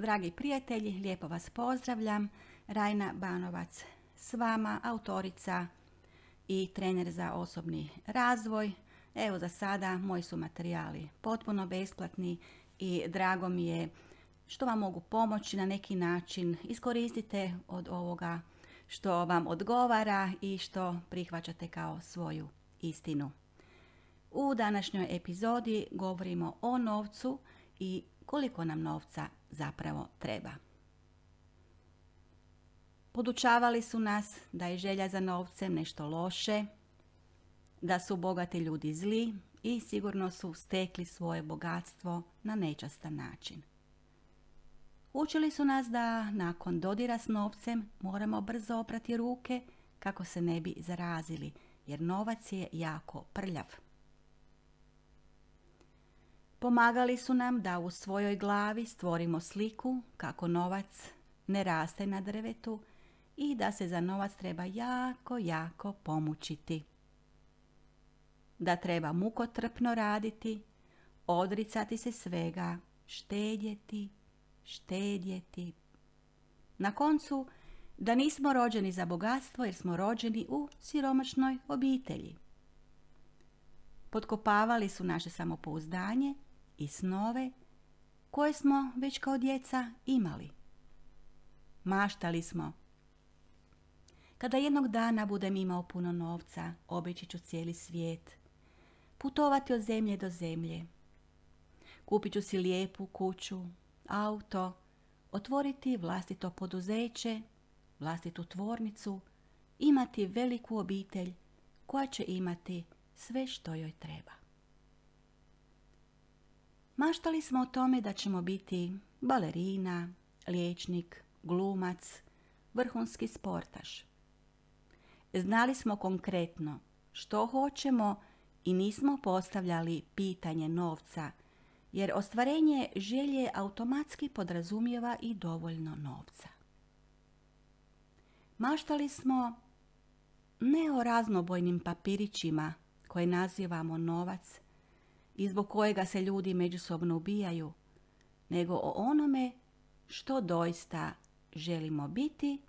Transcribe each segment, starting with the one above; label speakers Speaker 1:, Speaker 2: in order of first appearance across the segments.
Speaker 1: Dragi prijatelji, lijepo vas pozdravljam. Rajna Banovac s vama, autorica i trener za osobni razvoj. Evo za sada moji su materijali potpuno besplatni i drago mi je što vam mogu pomoći na neki način. Iskoristite od ovoga što vam odgovara i što prihvaćate kao svoju istinu. U današnjoj epizodi govorimo o novcu i koliko nam novca zapravo treba. Podučavali su nas da je želja za novcem nešto loše, da su bogati ljudi zli i sigurno su stekli svoje bogatstvo na nečastan način. Učili su nas da nakon dodira s novcem moramo brzo oprati ruke kako se ne bi zarazili, jer novac je jako prljav. Pomagali su nam da u svojoj glavi stvorimo sliku kako novac ne raste na drvetu i da se za novac treba jako pomučiti. Da treba mukotrpno raditi, odricati se svega, štedjeti. Na koncu, da nismo rođeni za bogatstvo jer smo rođeni u siromašnoj obitelji. Potkopavali su naše samopouzdanje i snove koje smo već kao djeca imali. Maštali smo: kada jednog dana budem imao puno novca, obići ću cijeli svijet, putovati od zemlje do zemlje, kupit ću si lijepu kuću, auto, otvoriti vlastito poduzeće, vlastitu tvornicu, imati veliku obitelj koja će imati sve što joj treba. Maštali smo o tome da ćemo biti balerina, liječnik, glumac, vrhunski sportaš. Znali smo konkretno što hoćemo i nismo postavljali pitanje novca, jer ostvarenje želje automatski podrazumijeva i dovoljno novca. Maštali smo ne o raznobojnim papirićima koje nazivamo novac i zbog kojega se ljudi međusobno ubijaju, nego o onome što doista želimo biti,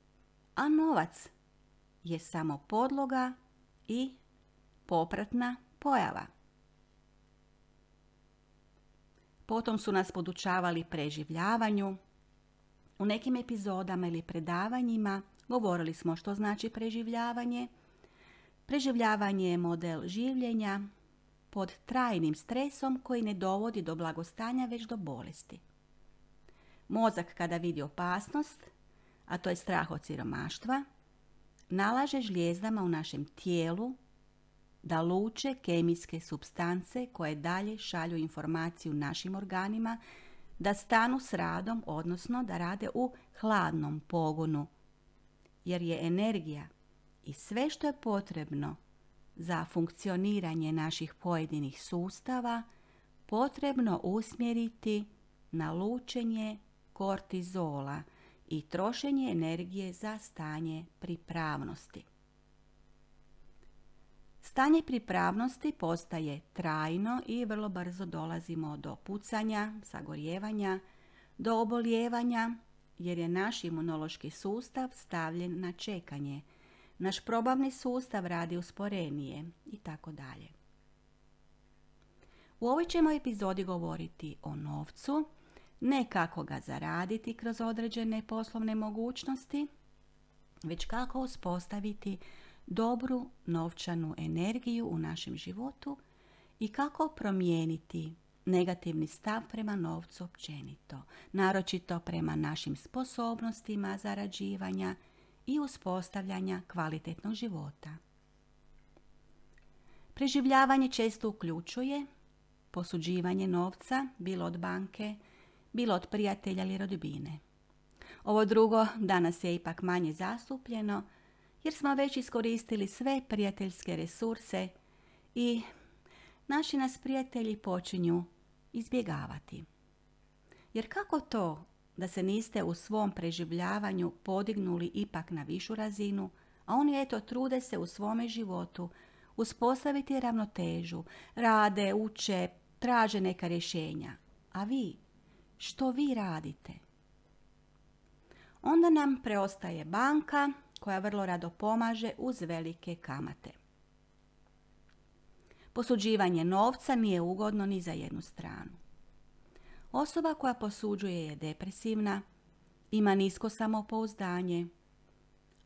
Speaker 1: a novac je samo podloga i popratna pojava. Potom su nas podučavali preživljavanju. U nekim epizodama ili predavanjima govorili smo što znači preživljavanje. Preživljavanje je model življenja pod trajnim stresom koji ne dovodi do blagostanja već do bolesti. Mozak kada vidi opasnost, a to je strah od siromaštva, nalaže žlijezdama u našem tijelu da luče kemijske supstance koje dalje šalju informaciju našim organima da stanu s radom, odnosno da rade u hladnom pogonu, jer je energija i sve što je potrebno za funkcioniranje naših pojedinih sustava potrebno usmjeriti na lučenje kortizola i trošenje energije za stanje pripravnosti. Stanje pripravnosti postaje trajno i vrlo brzo dolazimo do pucanja, sagorijevanja, do obolijevanja, jer je naš imunološki sustav stavljen na čekanje. Naš probavni sustav radi usporenije i tako dalje. U ovoj ćemo epizodi govoriti o novcu, ne kako ga zaraditi kroz određene poslovne mogućnosti, već kako uspostaviti dobru novčanu energiju u našem životu i kako promijeniti negativni stav prema novcu općenito, naročito prema našim sposobnostima zarađivanja i uspostavljanja kvalitetnog života. Preživljavanje često uključuje posuđivanje novca, bilo od banke, bilo od prijatelja ili rodbine. Ovo drugo danas je ipak manje zastupljeno, jer smo već iskoristili sve prijateljske resurse i naši nas prijatelji počinju izbjegavati. Jer kako to da se niste u svom preživljavanju podignuli ipak na višu razinu, a oni trude se u svome životu uspostaviti ravnotežu, rade, uče, traže neka rješenja. A vi, što vi radite? onda nam preostaje banka koja vrlo rado pomaže uz velike kamate. Posuđivanje novca nije ugodno ni za jednu stranu. Osoba koja posuđuje je depresivna, ima nisko samopouzdanje,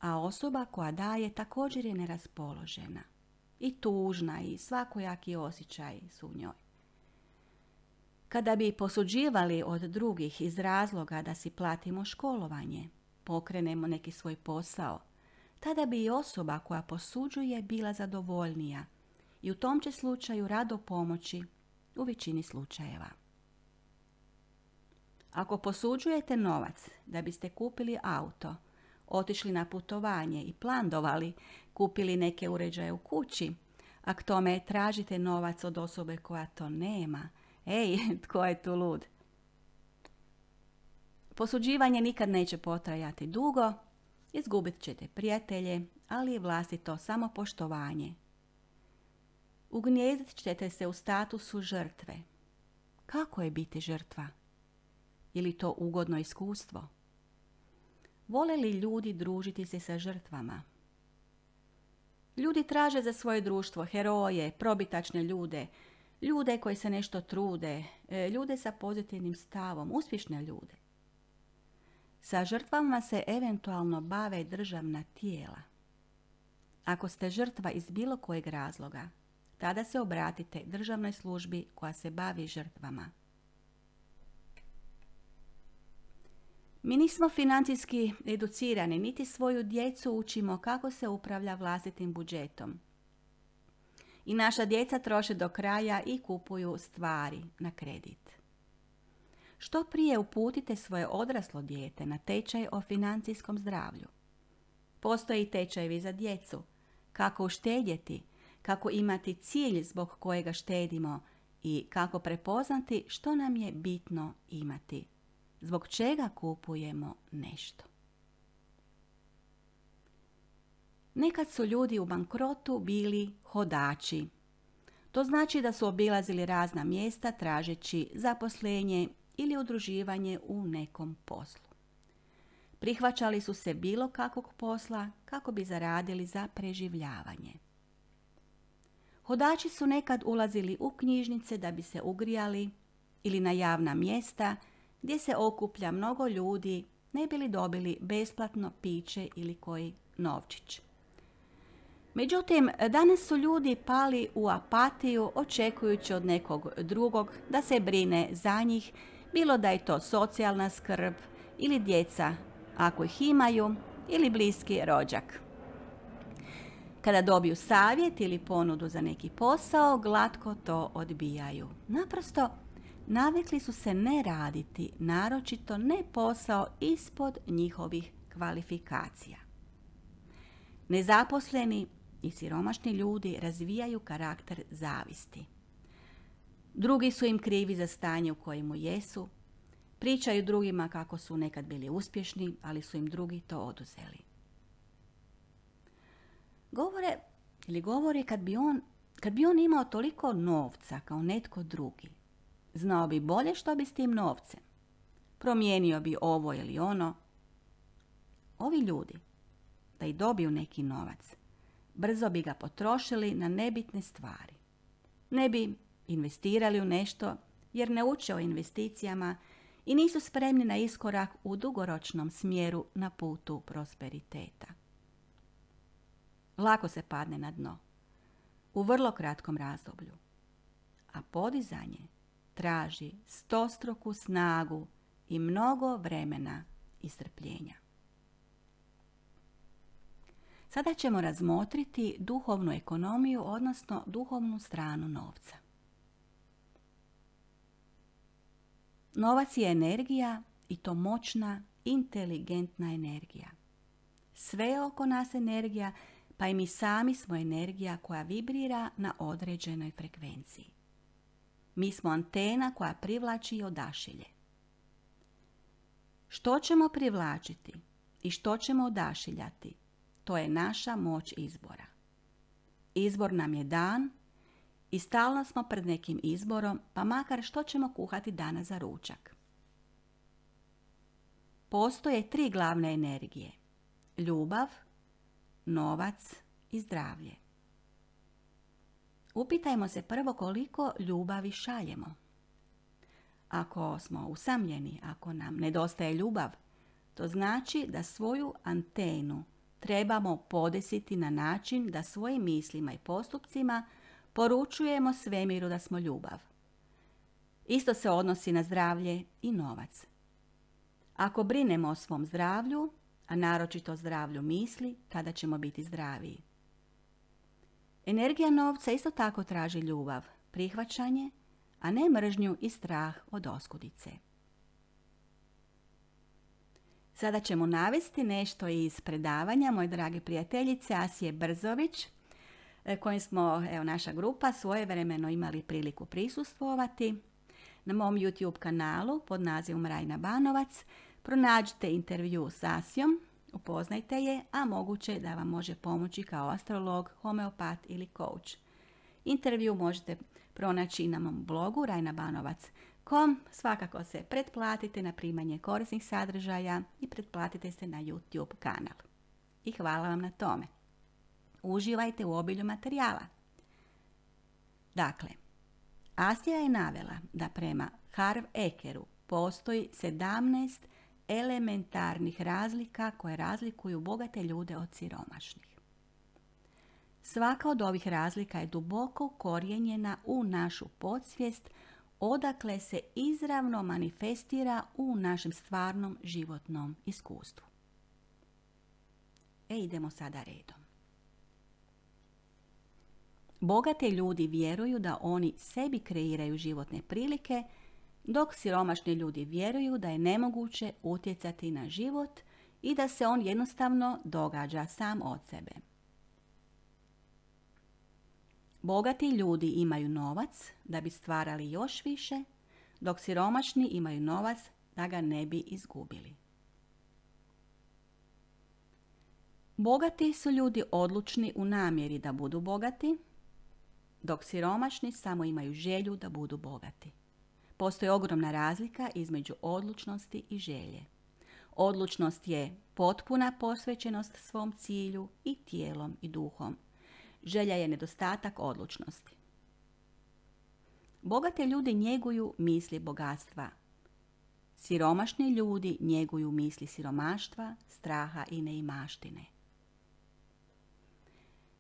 Speaker 1: a osoba koja daje također je neraspoložena i tužna i svakojaki osjećaji su u njoj. Kada bi posuđivali od drugih iz razloga da si platimo školovanje, pokrenemo neki svoj posao, tada bi i osoba koja posuđuje bila zadovoljnija i u tom će slučaju rado pomoći u većini slučajeva. Ako posuđujete novac da biste kupili auto, otišli na putovanje i plandovali, kupili neke uređaje u kući, a k tome tražite novac od osobe koja to nema, tko je tu lud? Posuđivanje nikad neće potrajati dugo, izgubit ćete prijatelje, ali i vlastito samopoštovanje. Ugnijezdit ćete se u statusu žrtve. Kako je biti žrtva? Je li to ugodno iskustvo? Vole li ljudi družiti se sa žrtvama? Ljudi traže za svoje društvo heroje, probitačne ljude, ljude koji se nešto trude, ljude sa pozitivnim stavom, uspješne ljude. Sa žrtvama se eventualno bave državna tijela. Ako ste žrtva iz bilo kojeg razloga, tada se obratite državnoj službi koja se bavi žrtvama. Mi nismo financijski educirani, niti svoju djecu učimo kako se upravlja vlastitim budžetom. I naša djeca troše do kraja i kupuju stvari na kredit. Što prije uputite svoje odraslo dijete na tečaj o financijskom zdravlju. Postoji tečajevi za djecu, kako uštedjeti, kako imati cilj zbog kojega štedimo i kako prepoznati što nam je bitno imati, zbog čega kupujemo nešto. Nekad su ljudi u bankrotu bili hodači. To znači da su obilazili razna mjesta tražeći zaposlenje ili udruživanje u nekom poslu. Prihvaćali su se bilo kakvog posla kako bi zaradili za preživljavanje. Hodači su nekad ulazili u knjižnice da bi se ugrijali ili na javna mjesta gdje se okuplja mnogo ljudi ne bi li dobili besplatno piće ili koji novčić. Međutim, danas su ljudi pali u apatiju očekujući od nekog drugog da se brine za njih, bilo da je to socijalna skrb ili djeca ako ih imaju ili bliski rođak. Kada dobiju savjet ili ponudu za neki posao, glatko to odbijaju. Naprosto, navikli su se ne raditi, naročito ne posao ispod njihovih kvalifikacija. Nezaposleni i siromašni ljudi razvijaju karakter zavisti. Drugi su im krivi za stanje u kojemu jesu, pričaju drugima kako su nekad bili uspješni, ali su im drugi to oduzeli. Govore kad bi on imao toliko novca kao netko drugi, znao bi bolje što bi s tim novcem, promijenio bi ovo ili ono. Ovi ljudi, da i dobiju neki novac, brzo bi ga potrošili na nebitne stvari. Ne bi investirali u nešto jer ne uče o investicijama i nisu spremni na iskorak u dugoročnom smjeru na putu prosperiteta. Lako se padne na dno, u vrlo kratkom razdoblju, a podizanje traži stostruku snagu i mnogo vremena i strpljenja. Sada ćemo razmotriti duhovnu ekonomiju, odnosno duhovnu stranu novca. Novac je energija i to moćna, inteligentna energija. Sve je oko nas energija, pa i mi sami smo energija koja vibrira na određenoj frekvenciji. Mi smo antena koja privlači i odašilje. Što ćemo privlačiti i što ćemo odašiljati, to je naša moć izbora. Izbor nam je dan i stalno smo pred nekim izborom, pa makar što ćemo kuhati danas za ručak. postoje 3 glavne energije. Ljubav, novac i zdravlje. Upitajmo se prvo koliko ljubavi šaljemo. Ako smo usamljeni, ako nam nedostaje ljubav, to znači da svoju antenu trebamo podesiti na način da svojim mislima i postupcima poručujemo svemiru da smo ljubav. Isto se odnosi na zdravlje i novac. Ako brinemo o svom zdravlju, a naročito o zdravlju misli, tada ćemo biti zdraviji. Energija novca isto tako traži ljubav, prihvaćanje, a ne mržnju i strah od oskudice. Sada ćemo navesti nešto iz predavanja moje drage prijateljice Asije Brzović, kojim smo, naša grupa, svojevremeno imali priliku prisustvovati. Na mom YouTube kanalu pod nazivom Rajna Banovac pronađite intervju s Asijom, upoznajte je, a moguće da vam može pomoći kao astrolog, homeopat ili coach. Intervju možete pronaći i na mom blogu rajnabanovac.com. Svakako se pretplatite na primanje korisnih sadržaja i pretplatite se na YouTube kanal. I hvala vam na tome. Uživajte u obilju materijala. Dakle, Asija je navela da prema Harv Ekeru postoji 17 elementarnih razlika koje razlikuju bogate ljude od siromašnih. Svaka od ovih razlika je duboko ukorijenjena u našu podsvijest, odakle se izravno manifestira u našem stvarnom životnom iskustvu. Idemo sada redom. Bogati ljudi vjeruju da oni sebi kreiraju životne prilike, dok siromašni ljudi vjeruju da je nemoguće utjecati na život i da se on jednostavno događa sam od sebe. Bogati ljudi imaju novac da bi stvarali još više, dok siromašni imaju novac da ga ne bi izgubili. Bogati su ljudi odlučni u namjeri da budu bogati, dok siromašni samo imaju želju da budu bogati. Postoji ogromna razlika između odlučnosti i želje. Odlučnost je potpuna posvećenost svom cilju i tijelom i duhom. Želja je nedostatak odlučnosti. Bogati ljudi njeguju misli bogatstva. Siromašni ljudi njeguju misli siromaštva, straha i neimaštine.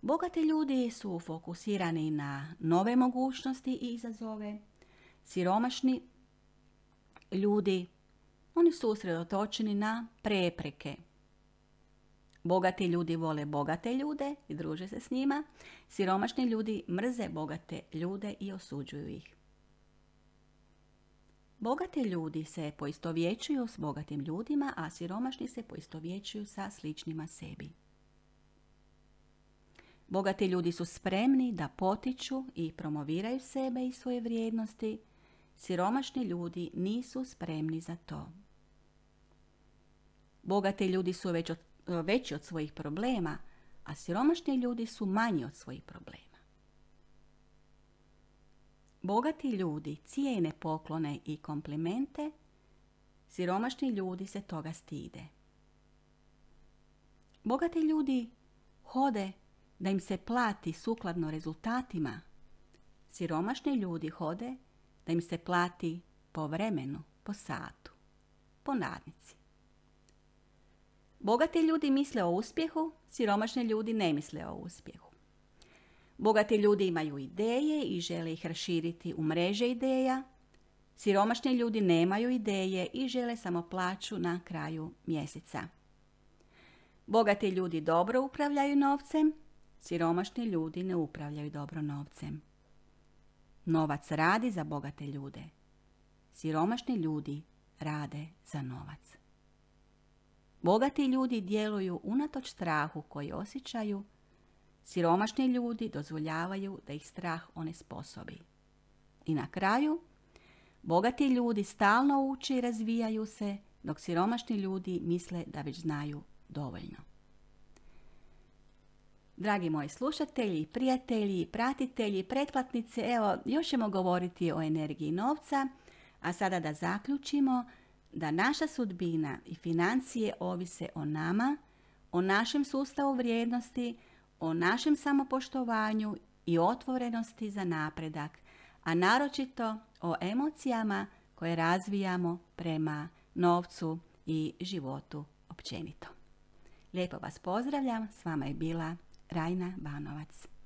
Speaker 1: Bogati ljudi su fokusirani na nove mogućnosti i izazove. Siromašni ljudi, oni su usredotočeni na prepreke. Bogati ljudi vole bogate ljude i druže se s njima. Siromašni ljudi mrze bogate ljude i osuđuju ih. Bogati ljudi se poistovjećuju s bogatim ljudima, a siromašni se poistovjećuju sa sličnima sebi. Bogati ljudi su spremni da potiču i promoviraju sebe i svoje vrijednosti. Siromašni ljudi nisu spremni za to. Bogati ljudi su veći od svojih problema, a siromašni ljudi su manji od svojih problema. Bogati ljudi cijene poklone i komplimente, siromašni ljudi se toga stide. Bogati ljudi hode da im se plati sukladno rezultatima, siromašni ljudi hode da im se plati po vremenu, po satu, po nadnici. Bogati ljudi misle o uspjehu, siromašni ljudi ne misle o uspjehu. Bogati ljudi imaju ideje i žele ih raširiti u mreže ideja. Siromašni ljudi nemaju ideje i žele samo plaću na kraju mjeseca. Bogati ljudi dobro upravljaju novcem, siromašni ljudi ne upravljaju dobro novcem. Novac radi za bogate ljude. Siromašni ljudi rade za novac. Bogati ljudi djeluju unatoč strahu koji osjećaju. Siromašni ljudi dozvoljavaju da ih strah onesposobi. I na kraju, bogati ljudi stalno uče i razvijaju se, dok siromašni ljudi misle da već znaju dovoljno. Dragi moji slušatelji, prijatelji, pratitelji, pretplatnice, evo, još ćemo govoriti o energiji novca, a sada da zaključimo, da naša sudbina i financije ovise o nama, o našem sustavu vrijednosti, o našem samopoštovanju i otvorenosti za napredak, a naročito o emocijama koje razvijamo prema novcu i životu općenito. Lijepo vas pozdravljam, s vama je bila Rajna Banovac.